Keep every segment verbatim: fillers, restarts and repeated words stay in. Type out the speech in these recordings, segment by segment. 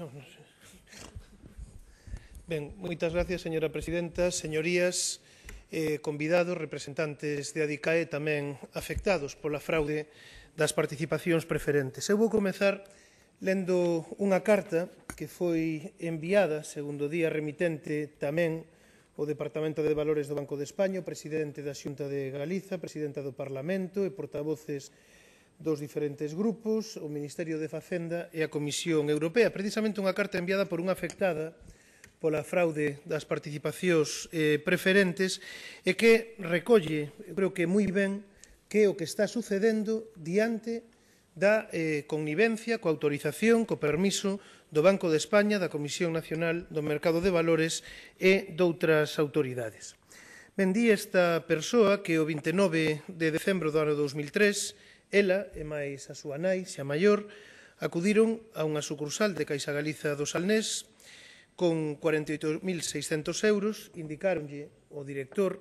No, no sé. Ben, moitas gracias, señora presidenta, señorías, eh, convidados, representantes de ADICAE, tamén afectados pola fraude das participacións preferentes. Eu vou comezar lendo unha carta que foi enviada, segundo o día remitente, tamén o Departamento de Valores do Banco de España, o presidente da Xunta de Galiza, presidenta do Parlamento e portavoces dos diferentes grupos, o Ministerio de Facenda e a Comisión Europea. Precisamente unha carta enviada por unha afectada pola fraude das participacións eh, preferentes e que recolle, creo que moi ben, que o que está sucedendo diante da eh, connivencia, coa autorización, co permiso do Banco de España, da Comisión Nacional do Mercado de Valores e doutras autoridades. Ben, di esta persoa que o vinte e nove de decembro do ano dous mil tres, ela e máis a súa nai, xa maior, acudiron a unha sucursal de Caixa Galiza do Salnés con cuarenta e oito mil seiscentos euros, indicáronlle o director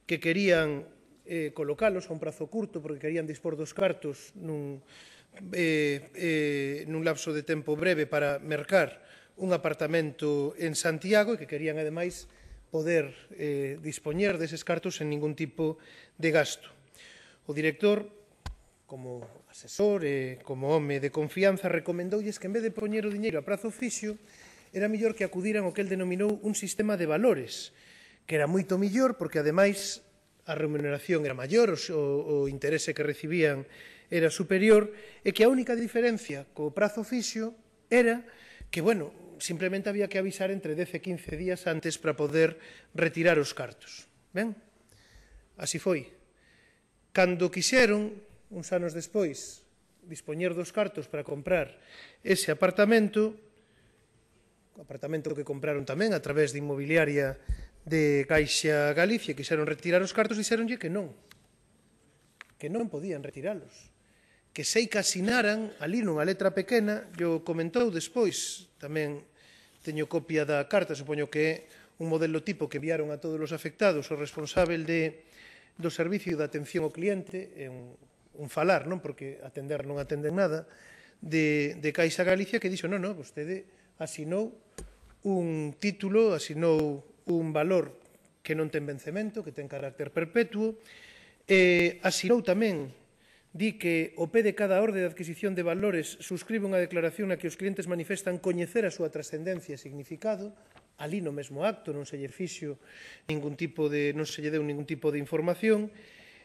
que querían eh, colocalos a un prazo curto porque querían dispor dos cartos nun, eh, eh, nun lapso de tempo breve para mercar un apartamento en Santiago e que querían, ademais, poder eh, dispoñer deses cartos sen ningún tipo de gasto. O director, como asesor e como home de confianza, recomendoulles que en vez de poñer o diñeiro a prazo fixo, era mellor que acudiran ao que el denominou un sistema de valores, que era moito mellor porque, ademais, a remuneración era maior, o, o interese que recibían era superior, e que a única diferencia co prazo fixo era que, bueno, simplemente había que avisar entre dez e quince días antes para poder retirar os cartos. Ben? Así foi. Cando quixeron, uns anos despois, dispoñer dos cartos para comprar ese apartamento, o apartamento que compraron tamén a través de inmobiliaria de Caixa Galicia, quixeron retirar os cartos, dixeronlle que non, que non podían retiralos, que sei que asinaran ali nunha letra pequena, yo comentou despois, tamén teño copia da carta, supoño que é un modelo tipo que enviaron a todos os afectados, o responsável de, do servicio de atención ao cliente, é un, un falar, non, porque atender non atenden nada, de, de Caixa Galicia, que dixo, non, non, vostede asinou un título, asinou un valor que non ten vencemento, que ten carácter perpetuo, e asinou tamén, di que o pé de cada orde de adquisición de valores suscribe unha declaración na que os clientes manifestan coñecer a súa trascendencia e significado, ali no mesmo acto non se lle fixo ningún tipo de, non se lle deu ningún tipo de información,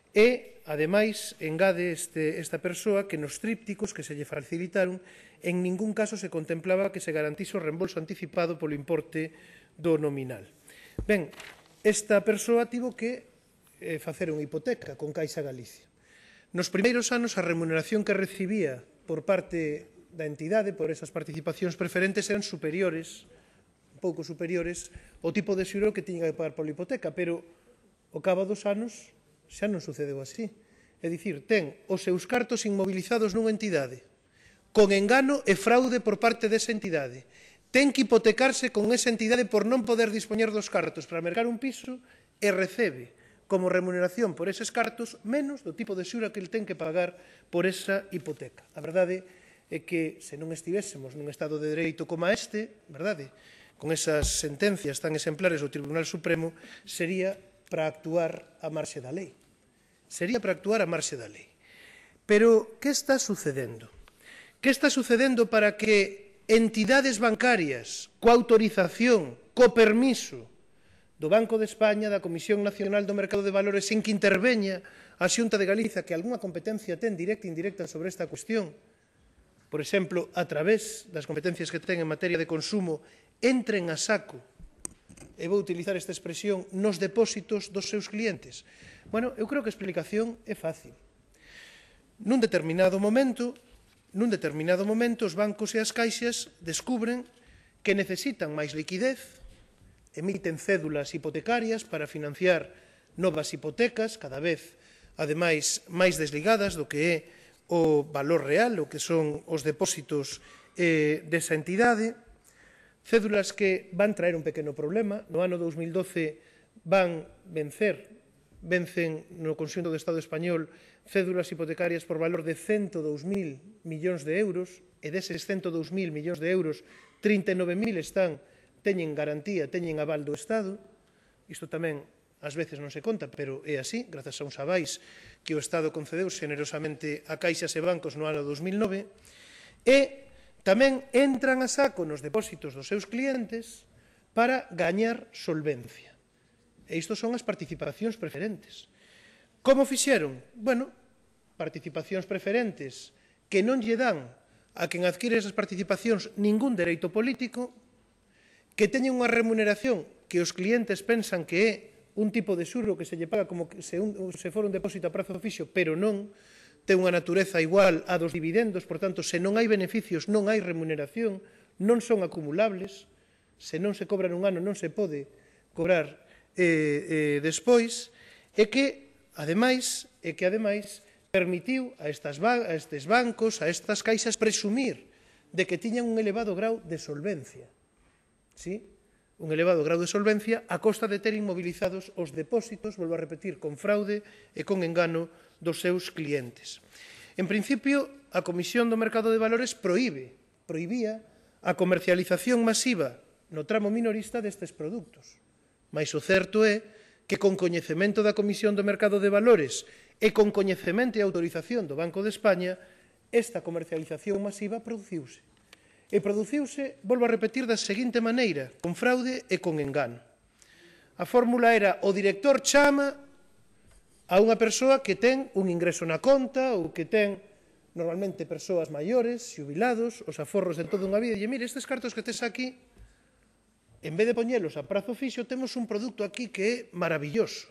e, ademais, engade este, esta persoa que nos trípticos que se lle facilitaron en ningún caso se contemplaba que se garantise o reembolso anticipado polo importe do nominal. Ben, esta persoa tivo que eh, facer unha hipoteca con Caixa Galicia. Nos primeiros anos, a remuneración que recibía por parte da entidade por esas participacións preferentes eran superiores, un pouco superiores, ao tipo de xuro que tiña que pagar pola hipoteca, pero ao cabo dos anos xa non sucedeu así. É dicir, ten os seus cartos inmovilizados nunha entidade, con engano e fraude por parte desa entidade. Ten que hipotecarse con esa entidade por non poder dispoñer dos cartos para mercar un piso e recebe como remuneración por eses cartos menos do tipo de xura que el ten que pagar por esa hipoteca. A verdade é que se non estivésemos nun Estado de Dereito como este, verdade, con esas sentencias tan exemplares do Tribunal Supremo, sería para actuar a marxe da lei. Sería para actuar a marxe da lei. Pero, que está sucedendo? Que está sucedendo para que entidades bancarias, coa autorización, co permiso do Banco de España, da Comisión Nacional do Mercado de Valores, sen que interveña a Xunta de Galiza, que algunha competencia ten directa e indirecta sobre esta cuestión, por exemplo, a través das competencias que ten en materia de consumo, entren a saco, e vou utilizar esta expresión, nos depósitos dos seus clientes. Bueno, eu creo que a explicación é fácil. Nun determinado momento, nun determinado momento, os bancos e as caixas descubren que necesitan máis liquidez, emiten cédulas hipotecarias para financiar novas hipotecas, cada vez, ademais, máis desligadas do que é o valor real, o que son os depósitos eh, desa entidade, cédulas que van traer un pequeno problema. No ano dous mil doce van vencer, vencen no conxunto do Estado español cédulas hipotecarias por valor de ciento dous mil millóns de euros, e deses ciento dous mil millóns de euros, trinta e nove mil están, teñen garantía, teñen aval do Estado. Isto tamén ás veces non se conta, pero é así, grazas a uns avais que o Estado concedeu xenerosamente a caixas e bancos no ano dos mil nove, e tamén entran a saco nos depósitos dos seus clientes para gañar solvencia. E isto son as participacións preferentes. Como fixeron? Bueno, participacións preferentes que non lle dan a quen adquire esas participacións ningún dereito político, que teñen unha remuneración que os clientes pensan que é un tipo de xurro que se lle paga como se, un, se for un depósito a prazo fixo, pero non ten unha natureza igual a dos dividendos, por tanto, se non hai beneficios, non hai remuneración, non son acumulables, se non se cobra nun ano non se pode cobrar eh, eh, despois, e que, ademais, e que, ademais, permitiu a, estas, a estes bancos, a estas caixas, presumir de que tiñan un elevado grau de solvencia. Sí? Un elevado grau de solvencia a costa de ter inmovilizados os depósitos, volvo a repetir, con fraude e con engano dos seus clientes. En principio, a Comisión do Mercado de Valores proíbe, prohibía a comercialización masiva no tramo minorista destes produtos. Mais o certo é que con coñecemento da Comisión do Mercado de Valores e con coñecemento e autorización do Banco de España, esta comercialización masiva produciuse. E produciuse, volvo a repetir, da seguinte maneira, con fraude e con engano. A fórmula era: o director chama a unha persoa que ten un ingreso na conta ou que ten, normalmente, persoas maiores, xubilados, os aforros de toda unha vida, e mire, estes cartos que tes aquí, en vez de poñelos a prazo fixo, temos un produto aquí que é maravilloso.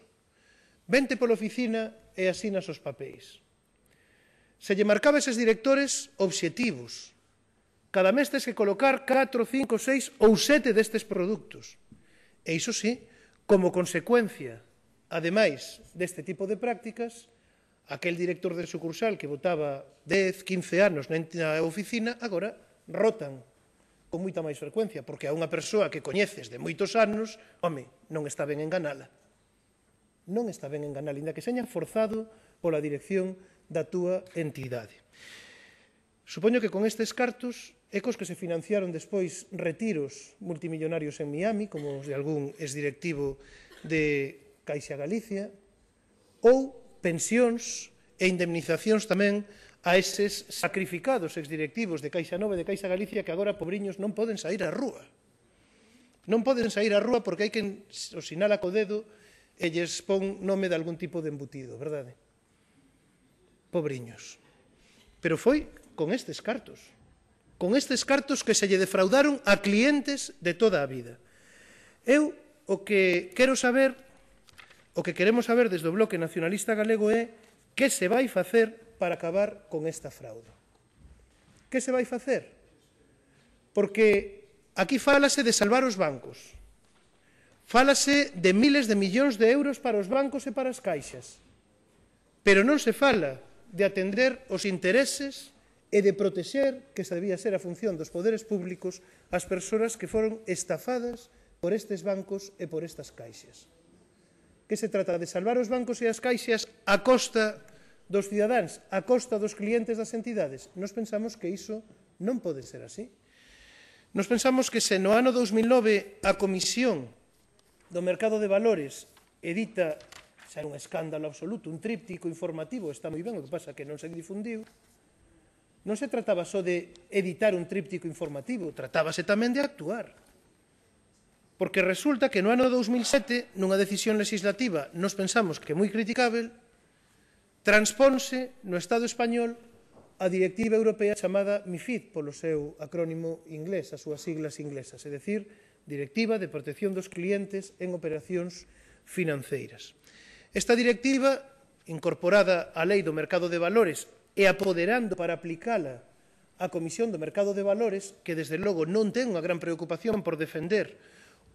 Vente pola oficina e asinas os papéis. Se lle marcaba a eses directores obxectivos. Cada mes tes que colocar catro, cinco, seis ou sete destes produtos. E iso sí, como consecuencia, ademais deste tipo de prácticas, aquel director de sucursal que botaba dez, quince anos na oficina, agora rotan con moita máis frecuencia, porque a unha persoa que coñeces de moitos anos, home, non está ben enganala. Non está ben enganala, inda que seña forzado pola dirección da túa entidade. Supoño que con estes cartos, ecos que se financiaron despois retiros multimillonarios en Miami, como os de algún exdirectivo de Caixa Galicia, ou pensións e indemnizacións tamén a eses sacrificados exdirectivos de Caixa Nova e de Caixa Galicia que agora, pobriños, non poden sair á rúa. Non poden sair á rúa porque hai quen os sinala co dedo e lles pon nome de algún tipo de embutido, verdade? Pobriños. Pero foi con estes cartos. Con estes cartos que se lle defraudaron a clientes de toda a vida. Eu o que quero saber, o que queremos saber desde o Bloque Nacionalista Galego é que se vai facer para acabar con esta fraude. Que se vai facer? Porque aquí fálase de salvar os bancos. Fálase de miles de millóns de euros para os bancos e para as caixas. Pero non se fala de atender os intereses e de protexer, que esa debía ser a función dos poderes públicos, as persoas que foron estafadas por estes bancos e por estas caixas. Que se trata de salvar os bancos e as caixas a costa dos cidadáns, a costa dos clientes das entidades. Nos pensamos que iso non pode ser así. Nos pensamos que se no ano dos mil nove a Comisión do Mercado de Valores edita, xa era un escándalo absoluto, un tríptico informativo, está moi ben, o que pasa que non se difundiu, non se trataba só de editar un tríptico informativo, tratábase tamén de actuar. Porque resulta que no ano dos mil sete, nunha decisión legislativa, nos pensamos que moi criticável, transponse no Estado español a directiva europea chamada MiFID, polo seu acrónimo inglés, as súas siglas inglesas, é dicir, Directiva de Protección dos Clientes en Operacións Financeiras. Esta directiva, incorporada á Lei do Mercado de Valores e apoderando para aplicala a Comisión do Mercado de Valores, que desde logo non ten unha gran preocupación por defender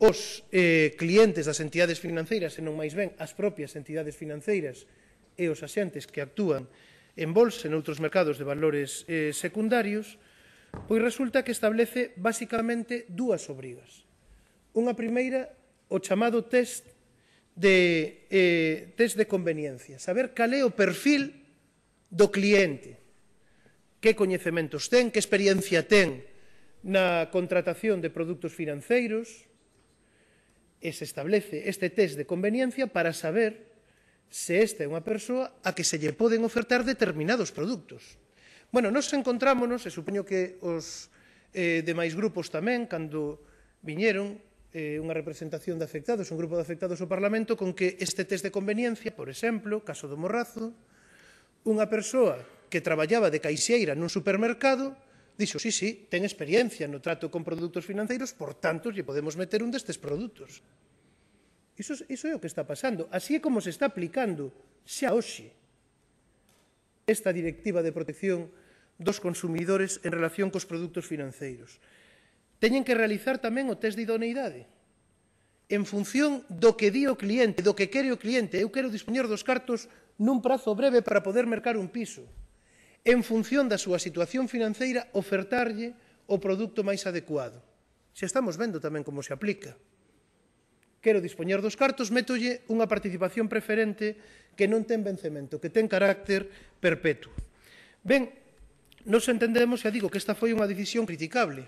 os eh, clientes das entidades financeiras, senón máis ben as propias entidades financeiras e os axentes que actúan en bolsa e noutros mercados de valores eh, secundarios, pois resulta que establece basicamente dúas obrigas. Unha primeira, o chamado test de, eh, test de conveniencia, saber cal é o perfil do cliente, que coñecementos ten, que experiencia ten na contratación de produtos financeiros e se establece este test de conveniencia para saber se esta é unha persoa a que se lle poden ofertar determinados produtos. Bueno, nos encontrámonos, e supoño que os eh, demais grupos tamén, cando viñeron eh, unha representación de afectados, un grupo de afectados ao Parlamento, con que este test de conveniencia, por exemplo, caso do Morrazo, unha persoa que traballaba de caixeira nun supermercado, dixo, sí, sí, ten experiencia no trato con produtos financeiros, por tanto, lle podemos meter un destes produtos. Iso, iso é o que está pasando. Así é como se está aplicando xa hoxe esta directiva de protección dos consumidores en relación cos produtos financeiros. Teñen que realizar tamén o test de idoneidade en función do que di o cliente, do que quere o cliente. Eu quero dispoñer dos cartos nun prazo breve para poder mercar un piso. En función da súa situación financeira, ofertarlle o produto máis adecuado. Xa estamos vendo tamén como se aplica. Quero dispoñer dos cartos, métolle unha participación preferente que non ten vencemento, que ten carácter perpetuo. Ben, nos entendemos, xa digo, que esta foi unha decisión criticable,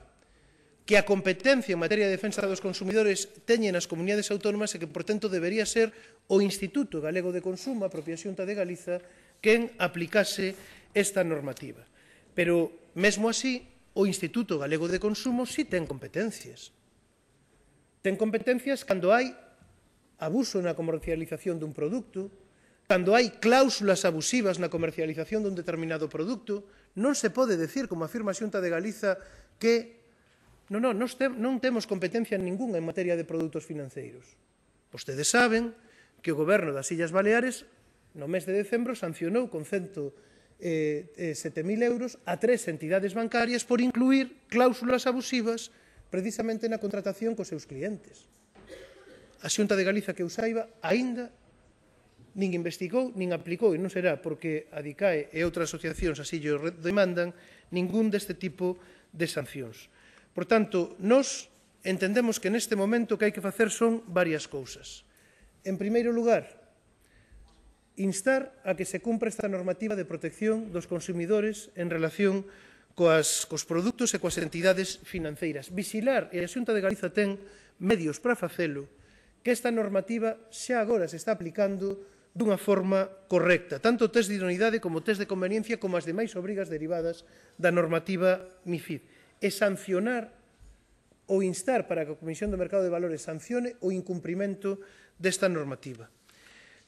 que a competencia en materia de defensa dos consumidores teñen as comunidades autónomas e que, por tanto, debería ser o Instituto Galego de Consumo, a propia Xunta de Galiza, quen aplicase esta normativa. Pero, mesmo así, o Instituto Galego de Consumo si ten competencias. Ten competencias cando hai abuso na comercialización dun produto, cando hai cláusulas abusivas na comercialización dun determinado produto. Non se pode decir, como afirma a Xunta de Galiza, que non, non, non temos competencia ninguna en materia de produtos financeiros. Vostedes saben que o Goberno das Illas Baleares, no mes de decembro, sancionou con ciento sete mil euros a tres entidades bancarias por incluir cláusulas abusivas precisamente na contratación cos seus clientes. A Xunta de Galiza, que eu saiba, aínda nin investigou, nin aplicou, e non será porque a DICAE e outras asociacións así llo demandan, ningún deste tipo de sancións. Por tanto, nós entendemos que neste momento o que hai que facer son varias cousas. En primeiro lugar, instar a que se cumpra esta normativa de protección dos consumidores en relación coas, cos produtos e coas entidades financeiras. Vixilar, e a Xunta de Galiza ten medios para facelo, que esta normativa xa agora se está aplicando dunha forma correcta, tanto o test de idoneidade como o test de conveniencia como as demais obrigas derivadas da normativa MiFID, e sancionar ou instar para que a Comisión do Mercado de Valores sancione o incumprimento desta normativa.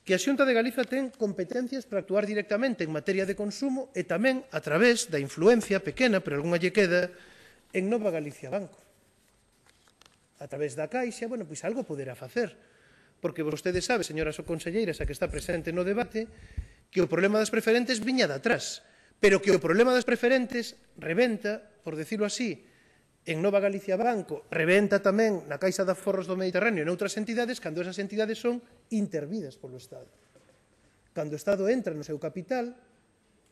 Que a Xunta de Galiza ten competencias para actuar directamente en materia de consumo e tamén a través da influencia pequena, pero algunha lle queda, en Nova Galicia Banco. A través da Caixa, bueno, pois algo poderá facer. Porque vostede sabe, señoras conselleiras, a que está presente no debate, que o problema das preferentes viña de atrás, pero que o problema das preferentes rebenta, por decirlo así, en Nova Galicia Banco, rebenta tamén na Caixa de Aforros do Mediterráneo e noutras entidades, cando esas entidades son intervidas polo Estado. Cando o Estado entra no seu capital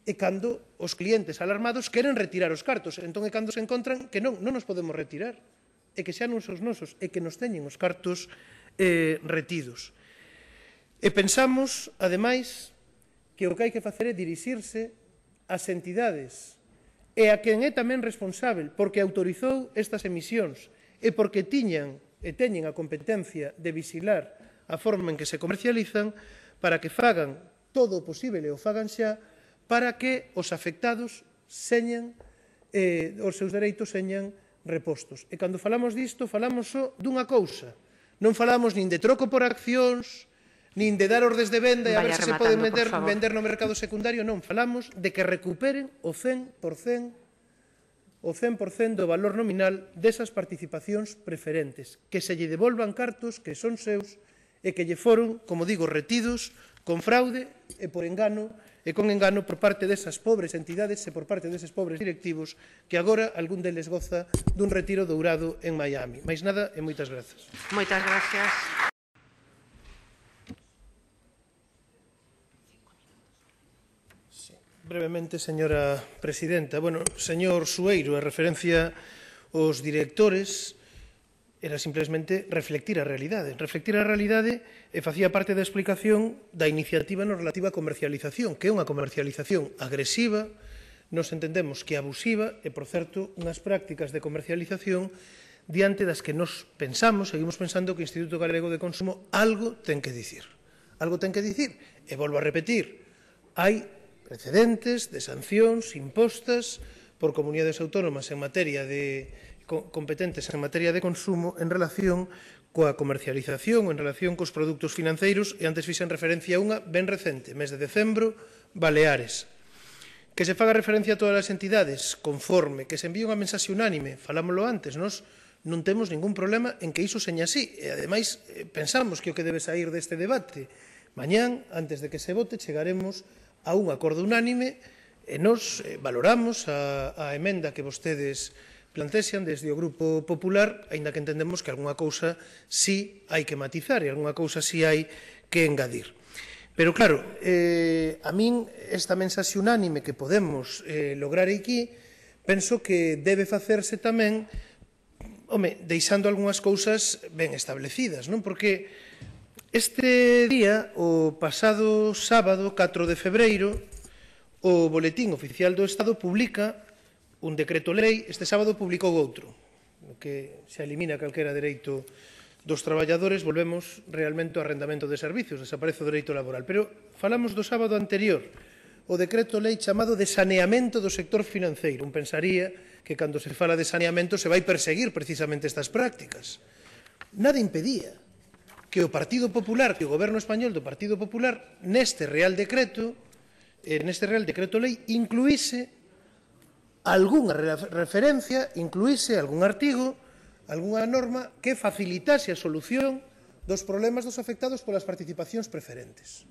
e cando os clientes alarmados queren retirar os cartos. Entón é cando se encontran que non, non nos podemos retirar, e que xa non son os nosos, e que nos teñen os cartos eh, retidos. E pensamos, ademais, que o que hai que facer é dirixirse ás entidades e a quen é tamén responsável porque autorizou estas emisións e porque tiñan e teñen a competencia de vixilar a forma en que se comercializan para que fagan todo o posible e o fagan xa para que os afectados señan, eh, os seus dereitos señan repostos. E cando falamos disto, falamos só dunha cousa. Non falamos nin de troco por accións, nin de dar ordes de venda e a ver se se poden vender no mercado secundario, non. Falamos de que recuperen o cen por cento o cen por cento do valor nominal desas participacións preferentes, que se lle devolvan cartos que son seus e que lle foron, como digo, retidos con fraude e por engano e con engano por parte desas pobres entidades e por parte deses pobres directivos que agora algún deles goza dun retiro dourado en Miami. Mais nada e moitas grazas. Moitas gracias. Brevemente, señora presidenta. Bueno, señor Sueiro, en referencia aos directores, era simplemente reflectir a realidade. Reflectir a realidade e facía parte da explicación da iniciativa no relativa á comercialización, que é unha comercialización agresiva nos entendemos que abusiva e, por certo, unhas prácticas de comercialización diante das que nos pensamos, seguimos pensando que o Instituto Galego de Consumo algo ten que dicir. Algo ten que dicir. E volvo a repetir, hai precedentes de sancións impostas por comunidades autónomas en materia de competentes en materia de consumo en relación coa comercialización, en relación cos produtos financeiros, e antes fixen referencia a unha ben recente, mes de decembro, Baleares. Que se faga referencia a todas as entidades conforme, que se envíe unha mensaxe unánime, falámoslo antes, nos non temos ningún problema en que iso seña así, e ademais pensamos que o que debe sair deste debate mañán, antes de que se vote, chegaremos a un acordo unánime e nos valoramos a, a emenda que vostedes plantexan desde o Grupo Popular, aínda que entendemos que algunha cousa sí hai que matizar e algunha cousa sí hai que engadir. Pero claro, eh, a min esta mensaxe unánime que podemos eh, lograr aquí, penso que debe facerse tamén, home, deixando algunhas cousas ben establecidas, non? Porque este día, o pasado sábado, catro de febreiro, o Boletín Oficial do Estado publica un decreto-lei, este sábado publicou outro, no que se elimina calquera dereito dos traballadores, volvemos realmente ao arrendamento de servicios, desaparece o dereito laboral. Pero falamos do sábado anterior, o decreto-lei chamado de saneamento do sector financeiro. Un pensaría que cando se fala de saneamento se vai perseguir precisamente estas prácticas. Nada impedía que o Partido Popular, que o Goberno español do Partido Popular, neste Real Decreto, neste Real Decreto-lei, incluíse algunha referencia, incluíse algún artigo, algunha norma que facilitase a solución dos problemas dos afectados polas participacións preferentes.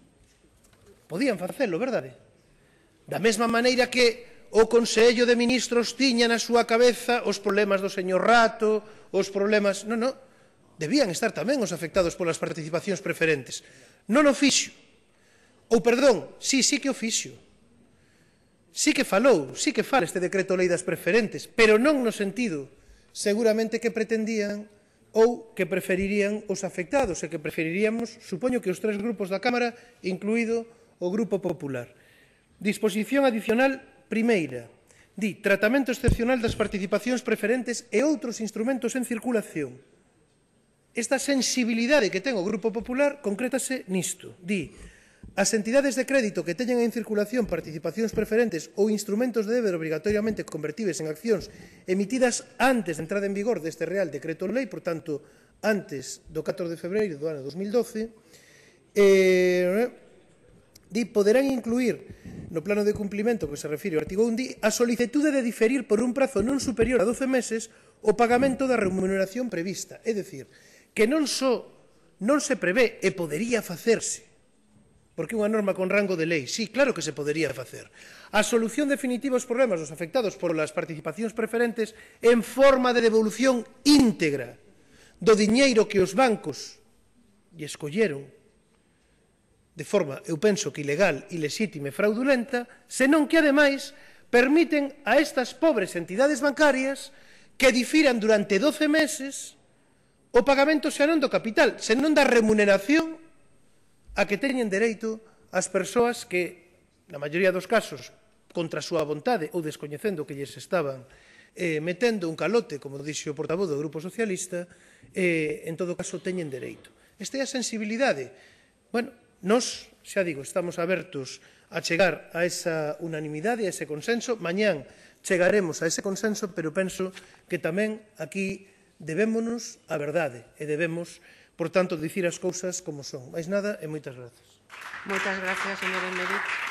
Podían facelo, verdade? Da mesma maneira que o Consello de Ministros tiña na súa cabeza os problemas do señor Rato, os problemas... Non, non, debían estar tamén os afectados polas participacións preferentes. Non o fixo. Ou, perdón, sí, sí que o fixo. Sí que falou, sí que fala este decreto-lei das preferentes, pero non no sentido seguramente que pretendían ou que preferirían os afectados e que preferiríamos, supoño que os tres grupos da Cámara, incluído o Grupo Popular. Disposición adicional primeira. Di, tratamento excepcional das participacións preferentes e outros instrumentos en circulación. Esta sensibilidade que ten o Grupo Popular concrétase nisto. Di, as entidades de crédito que teñen en circulación participacións preferentes ou instrumentos de deber obrigatoriamente convertibles en accións emitidas antes de entrada en vigor deste Real Decreto-Lei, por tanto, antes do catro de febreiro do ano dos mil doce, eh, di, poderán incluir no plano de cumplimento que se refire ao artigo un, di, a solicitude de diferir por un prazo non superior a doce meses o pagamento da remuneración prevista. É dicir, que non só non se prevé e podería facerse, porque unha norma con rango de lei, sí, claro que se podería facer. A solución definitiva aos problemas dos afectados por as participacións preferentes en forma de devolución íntegra do diñeiro que os bancos lle escolleron de forma, eu penso que ilegal, ilexítima e fraudulenta, senón que, ademais, permiten a estas pobres entidades bancarias que difiran durante doce meses o pagamento xa non do capital, senón da remuneración a que teñen dereito as persoas que, na maioría dos casos, contra a súa vontade ou descoñecendo que lles estaban eh, metendo un calote, como dixo o portavoz do Grupo Socialista, eh, en todo caso teñen dereito. Esta é a sensibilidade. Bueno, nós, xa digo, estamos abertos a chegar a esa unanimidade, a ese consenso. Mañán chegaremos a ese consenso, pero penso que tamén aquí debémonos a verdade e debemos, por tanto, dicir as cousas como son. Mais nada e moitas grazas. Moitas gracias, señor Emeric.